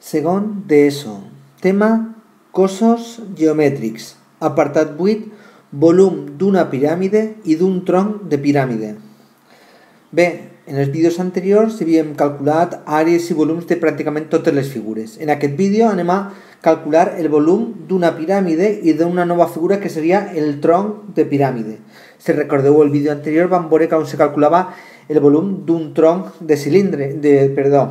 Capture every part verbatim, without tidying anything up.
Segon d'ESO. Tema cossos geomètrics. Apartat vuit. Volum d'una piràmide i d'un tronc de piràmide. Bé, en els vídeos anteriors havíem calculat àrees i volums de pràcticament totes les figures. En aquest vídeo anem a calcular el volum d'una piràmide i d'una nova figura que seria el tronc de piràmide. Si recordeu el vídeo anterior vam veure com se calculava el volum d'un tronc de cilindre, de, perdó,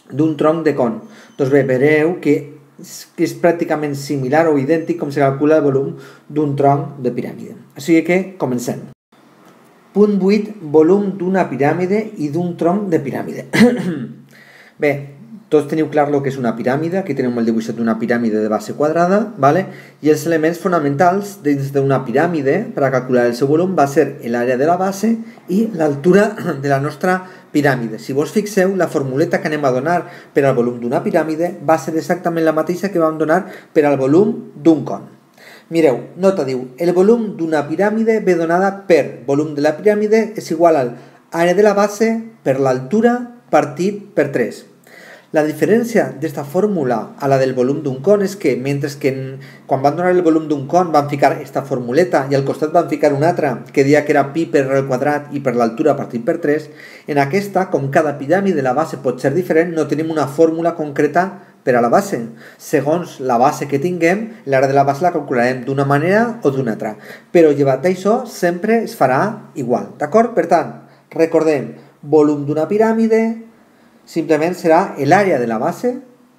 d'un tronc de con. Doncs bé, veureu que és, que és pràcticament similar o idèntic com se calcula el volum d'un tronc de piràmide. Així que comencem. Punt vuit. Volum d'una piràmide i d'un tronc de piràmide. Bé, tots teniu clar el que és una piràmide. Aquí tenim el dibuixet d'una piràmide de base quadrada, ¿vale? I els elements fonamentals dins d'una piràmide per a calcular el seu volum va ser l'àrea de la base i l'altura de la nostra piràmide. Si vos fixeu, la formuleta que anem a donar per al volum d'una piràmide va ser exactament la mateixa que vam donar per al volum d'un con. Mireu, nota diu, el volum d'una piràmide ve donada per volum de la piràmide és igual al àrea de la base per l'altura partit per tres. La diferència d'aquesta fórmula a la del volum d'un con és que mentre que en, quan van donar el volum d'un con van ficar aquesta formuleta i al costat van ficar una altra que deia que era pi per al quadrat i per l'altura partit per tres, en aquesta, com cada piràmide la base pot ser diferent, no tenim una fórmula concreta per a la base. Segons la base que tinguem, l'àrea de la base la calcularem d'una manera o d'una altra. Però llevat d'això sempre es farà igual, d'acord? Per tant, recordem, volum d'una piràmide simplement serà l'àrea de la base,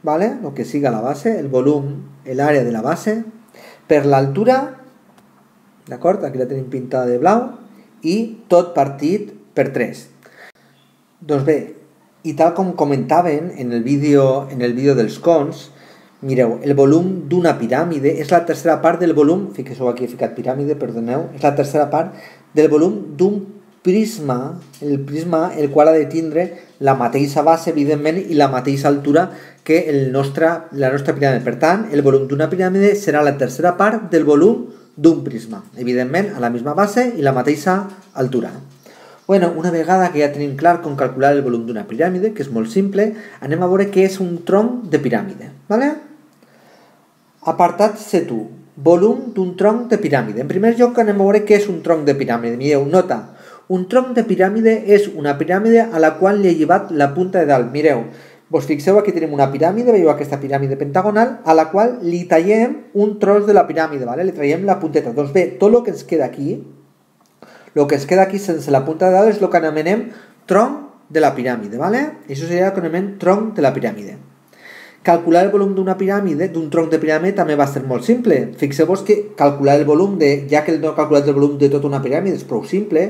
¿vale? El que siga la base, el volum, l'àrea de la base, per l'altura, d'acord? Aquí la tenim pintada de blau, i tot partit per tres. Doncs bé, i tal com comentaven en el vídeo, en el vídeo dels cons, mireu, el volum d'una piràmide és la tercera part del volum, fixeu aquí he ficat piràmide, perdoneu, és la tercera part del volum d'un prisma, el prisma el qual ha de tindre la mateixa base, evidentment, i la mateixa altura que el nostre, la nostra piràmide. Per tant, el volum d'una piràmide serà la tercera part del volum d'un prisma, evidentment, a la misma base i la mateixa altura. Bueno, una vegada que ja tenim clar com calcular el volum d'una piràmide, que és molt simple, anem a veure què és un tronc de piràmide. ¿Vale? Apartat set u. Volum d'un tronc de piràmide. En primer lloc anem a veure què és un tronc de piràmide. Mireu, nota. Un tronc de piràmide és una piràmide a la qual li he llevat la punta de dalt. Mireu, vos fixeu, aquí tenim una piràmide, veieu aquesta piràmide pentagonal, a la qual li tallem un tros de la piràmide, ¿vale? Li traiem la punteta. Doncs bé, tot el que ens queda aquí, el que ens queda aquí sense la punta de dalt és el que anomenem tronc de la piràmide, ¿vale? Això seria el que anomenem tronc de la piràmide. Calcular el volum d'una piràmide, d'un tronc de piràmide, també va ser molt simple. Fixeu-vos que calcular el volum de, ja que no he calculat el volum de tota una piràmide, és prou simple.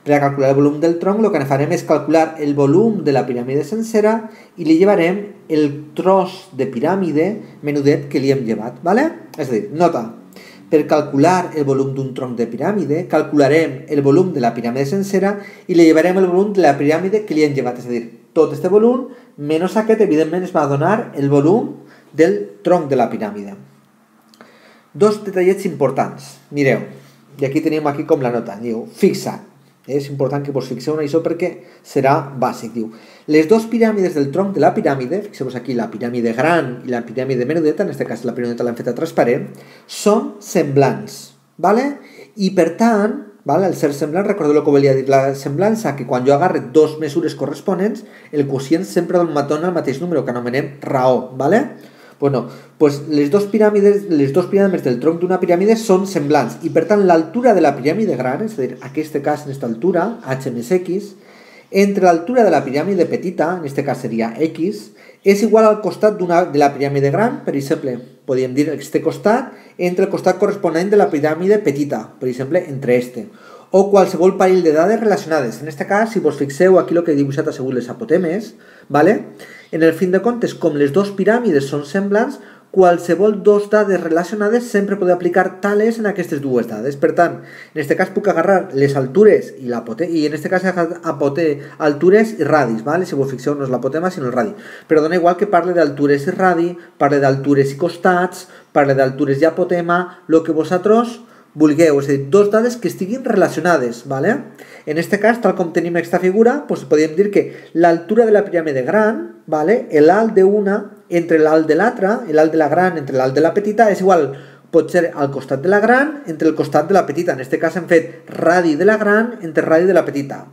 Per a calcular el volum del tronc, el que farem és calcular el volum de la piràmide sencera i li llevarem el tros de piràmide menudet que li hem llevat, ¿vale? És a dir, nota, per calcular el volum d'un tronc de piràmide, calcularem el volum de la piràmide sencera i li llevarem el volum de la piràmide que li hem llevat, és a dir, tot este volum, menys aquest, evidentment, es va donar el volum del tronc de la piràmide. Dos detallets importants. Mireu, i aquí tenim aquí com la nota, diu, fixa. És important que vos fixeu en això perquè serà bàsic, diu. Les dues piràmides del tronc de la piràmide, fixeu-vos aquí la piràmide gran i la piràmide menudeta, en aquest cas la piràmide l'hem feta transparent, són semblants, ¿vale? I per tant, ¿vale? Al ser semblant, recordeu el que volia dir la semblança, que quan jo agarre dos mesures corresponents, el quocient sempre em dona el mateix número, que anomenem raó, ¿vale? Bueno, pues les dues piràmides, les dues piràmides del tronc d'una piràmide són semblants, i per tant l'altura de la piràmide gran, és a dir, en aquest cas, en aquesta altura, h més x, entre l'altura de la piràmide petita, en aquest cas seria x, és igual al costat de la piràmide gran, per exemple, podríem dir aquest costat, entre el costat corresponent de la piràmide petita, per exemple, entre este, o qualsevol parell de dades relacionades. En aquest cas, si vos fixeu, aquí el que he dibuixat ha sigut les apotemes, ¿vale? En el fin de comptes, com les dues piràmides són semblants, qualsevol dos dades relacionades sempre pot aplicar tales en aquestes dues dades. Per tant, en aquest cas puc agarrar les altures i l'apotema, i en aquest cas apote altures i radis, ¿vale? Si vos fixeu, no és l'apotema, sinó el radi. Però dona igual que parle d'altures i radi, parle d'altures i costats, parle d'altures i apotema, el que vosaltres vulgueu, és a dir, dos dades que estiguin relacionades, ¿vale? En aquest cas, tal com tenim aquesta figura, doncs podríem dir que l'altura de la piràmide gran, ¿vale? L'alt d'una entre l'alt de l'altra, l'alt de la gran entre l'alt de la petita, és igual, pot ser al costat de la gran entre el costat de la petita. En aquest cas hem fet radi de la gran entre radi de la petita.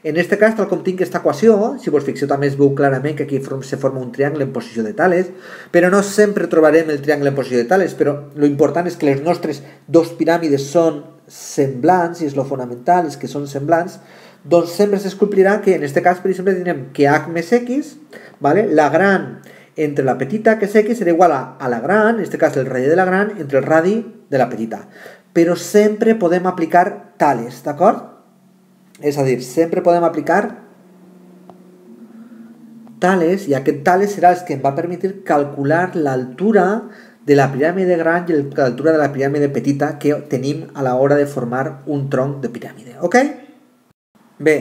En aquest cas, tal com tinc aquesta equació, si vos fixeu també es veu clarament que aquí se forma un triangle en posició de Tales, però no sempre trobarem el triangle en posició de Tales, però lo important és que les nostres dos piràmides són semblants, i és lo fonamental, és que són semblants, doncs sempre s'esculpirà que en aquest cas, per exemple, tindrem que h més x, vale? La gran entre la petita, que és x, serà igual a, a la gran, en aquest cas el radi de la gran, entre el radi de la petita. Però sempre podem aplicar tales, d'acord? És a dir, sempre podem aplicar tales, i aquest tales serà el que em va permetre calcular l'altura de la piràmide gran i l'altura de la piràmide petita que tenim a l'hora de formar un tronc de piràmide. Ok? Bé,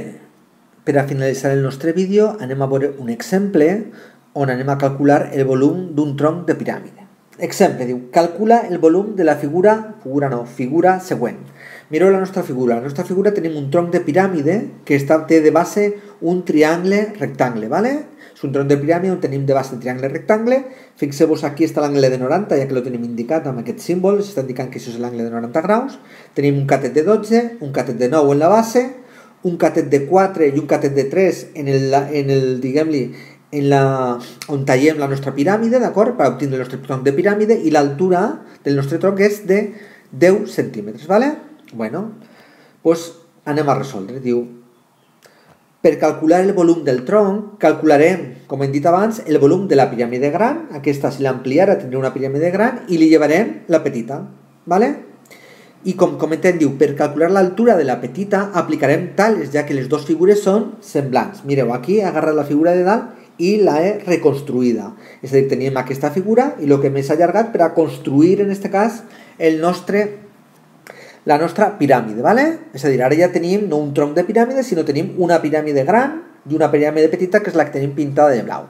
per a finalitzar el nostre vídeo anem a veure un exemple on anem a calcular el volum d'un tronc de piràmide. Exemple, diu, calcula el volum de la figura, figura no, figura següent. Mireu la nostra figura. La nostra figura tenim un tronc de piràmide que està, té de base un triangle rectangle, ¿vale? És un tronc de piràmide on tenim de base un triangle rectangle. Fixeu-vos, aquí està l'angle de noranta, ja que lo tenim indicat amb aquest símbol, s'està indicant que això és l'angle de noranta graus. Tenim un catet de dotze, un catet de nou en la base, un catet de quatre i un catet de tres en el, en el diguem-li, en la, on tallem la nostra piràmide, d'acord? Per obtenir el nostre tronc de piràmide, i l'altura del nostre tronc és de deu centímetres, ¿vale? Bueno, doncs anem a resoldre. Diu, per calcular el volum del tronc, calcularem, com hem dit abans, el volum de la piràmide gran. Aquesta, si l'ampliara, tindrà una piràmide gran, i li llevarem la petita, ¿vale? I com comentem, diu, per calcular l'altura de la petita, aplicarem tales, ja que les dues figures són semblants. Mireu, aquí he agarrat la figura de dalt i la he reconstruïda. És a dir, teníem aquesta figura i el que més ha allargat per a construir, en aquest cas, el nostre, la nostra piràmide, ¿vale? És a dir, ara ja tenim no un tronc de piràmide, sinó tenim una piràmide gran i una piràmide petita, que és la que tenim pintada de blau.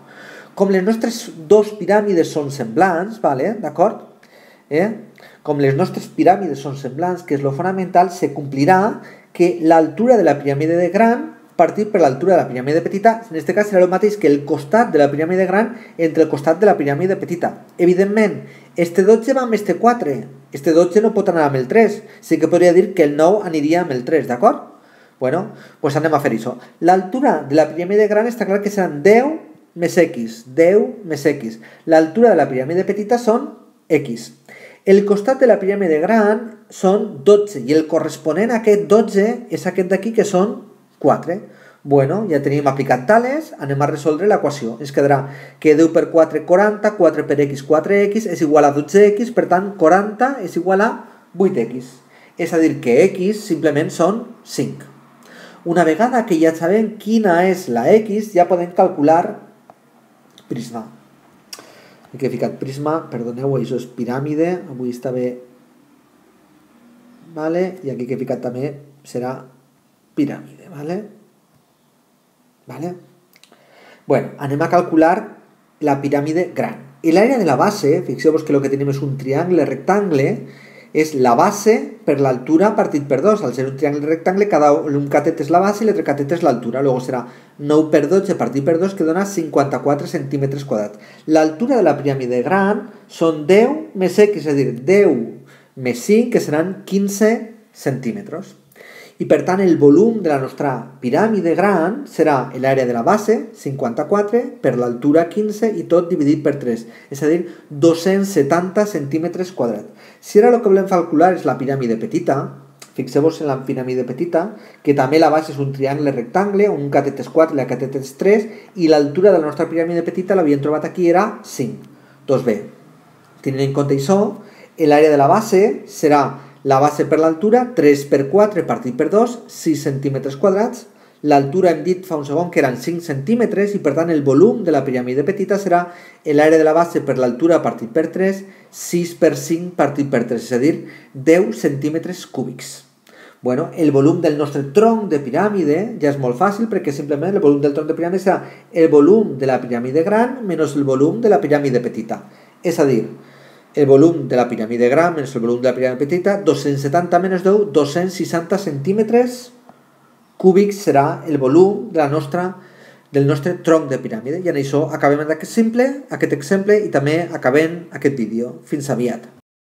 Com les nostres dos piràmides són semblants, ¿vale? D'acord? Eh? Com les nostres piràmides són semblants, que és lo fonamental, se complirà que l'altura de la piràmide de gran partir per l'altura de la piràmide petita, en aquest cas serà el mateix que el costat de la piràmide gran entre el costat de la piràmide petita. Evidentment, este dotze va amb este quatre, este dotze no pot anar amb el tres, sí que podria dir que el nou aniria amb el tres, d'acord? Bueno, doncs anem a fer això. L'altura de la piràmide gran està clar que seran deu més x, deu més x. L'altura de la piràmide petita són x. El costat de la piràmide gran són dotze i el corresponent a aquest dotze és aquest d'aquí, que són quatre. Bueno, ja tenim aplicat tales, anem a resoldre l'equació. Ens quedarà que deu per quatre, quaranta, quatre per x, quatre x, és igual a dotze x, per tant, quaranta és igual a vuit x. És a dir, que x simplement són cinc. Una vegada que ja sabem quina és la x, ja podem calcular prisma. Aquí he ficat prisma, perdoneu, això és piràmide, avui està bé, vale? I aquí que he ficat també serà piràmide, ¿vale? ¿Vale? Bueno, anem a calcular la piràmide gran. El área de la base, fixeu-vos que el que tenim és un triangle rectangle, és la base per l'altura partit per dos. Al ser un triangle rectangle, cada un catet és la base i l'altre catet és l'altura. Luego serà nou per dotze partit per dos, que dona cinquanta-quatre centímetres quadrats. L'altura de la piràmide gran són deu més x, és a dir, deu més cinc, que seran quinze centímetres. I per tant el volum de la nostra piràmide gran serà l'àrea de la base, cinquanta-quatre, per l'altura quinze i tot dividit per tres, és a dir, dos-cents setanta centímetres quadrats. Si ara el que volem calcular és la piràmide petita, fixeu-vos en la piràmide petita, que també la base és un triangle rectangle, un catet és quatre i la catet és tres, i l'altura de la nostra piràmide petita l'havíem trobat aquí, era cinc. Doncs bé, tenint en compte això, l'àrea de la base serà la base per l'altura, tres per quatre partit per dos, sis centímetres quadrats. L'altura hem dit fa un segon que eren cinc centímetres i per tant el volum de la piràmide petita serà l'àrea de la base per l'altura partit per tres, sis per cinc partit per tres, és a dir, deu centímetres cúbics. Bueno, el volum del nostre tronc de piràmide ja és molt fàcil perquè simplement el volum del tronc de piràmide serà el volum de la piràmide gran menys el volum de la piràmide petita. És a dir, el volum de la piràmide gran menys el volum de la piràmide petita, dos-cents setanta menys deu, dos-cents seixanta centímetres cúbics serà el volum de la nostra del nostre tronc de piràmide. I en això acabem aquest simple, aquest exemple i també acabem aquest vídeo. Fins aviat.